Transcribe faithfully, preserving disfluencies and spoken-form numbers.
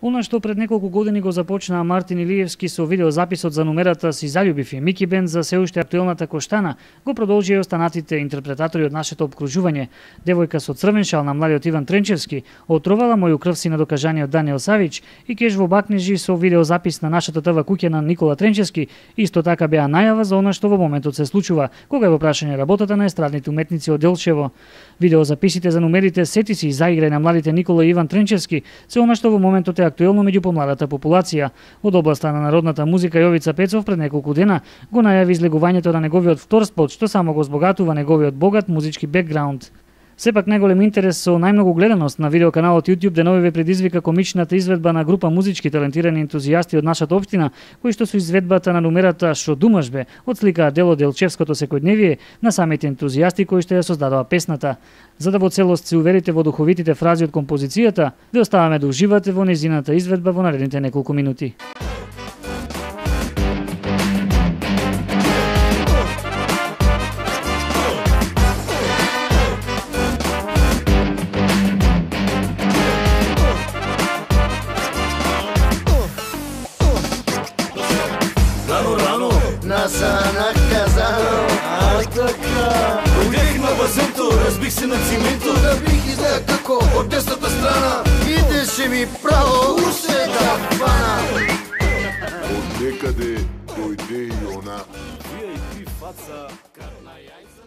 Она што пред неколку години го започнаа Мартин Илиевски со видеозаписот за номерата "Си заљубив ја Мики Бенд" за се уште актуелната Коштана, го продолжија и останатите интерпретатори од нашето опкружување. Девојка со црвен шал на младиот Иван Тренчевски, отровала моју крв си на докажаниот Даниел Савич и кеш во бакнежи со видеозапис на нашата ТВ куќа на Никола Тренчевски, исто така беа најава за она што во моментот се случува, кога е во прашање работата на естрадните уметници од Делчево. Видеозаписите за номерите "Сети си" и "Заиграј" на младите Никола и Иван Тренчевски се она што во моментот е актуелно меѓу помладата популација. Од областа на народната музика Јовица Пецов пред неколку дена го најави излегувањето на неговиот втор спот, што само го збогатува неговиот богат музички бекграунд. Сепак најголем интерес со најмногу гледаност на видеоканалот YouTube денови ве предизвика комичната изведба на група музички талентирани ентузијасти од нашата општина, кои што со изведбата на номерата "Шо думаш бе" отсликаа дел од делчевското секојдневие на самите ентузијасти кои што ја создадоа песната. За да во целост се уверите во духовитите фрази од композицијата, ве оставаме да уживате во нејзината изведба во наредните неколку минути. Наса наказано, а така Уидех на базенто, разбих се на цимето Да бих изгледа како од десната страна Идеше ми право уше да фана Од некаде дојде и она ви ай пи фаца, карна јајца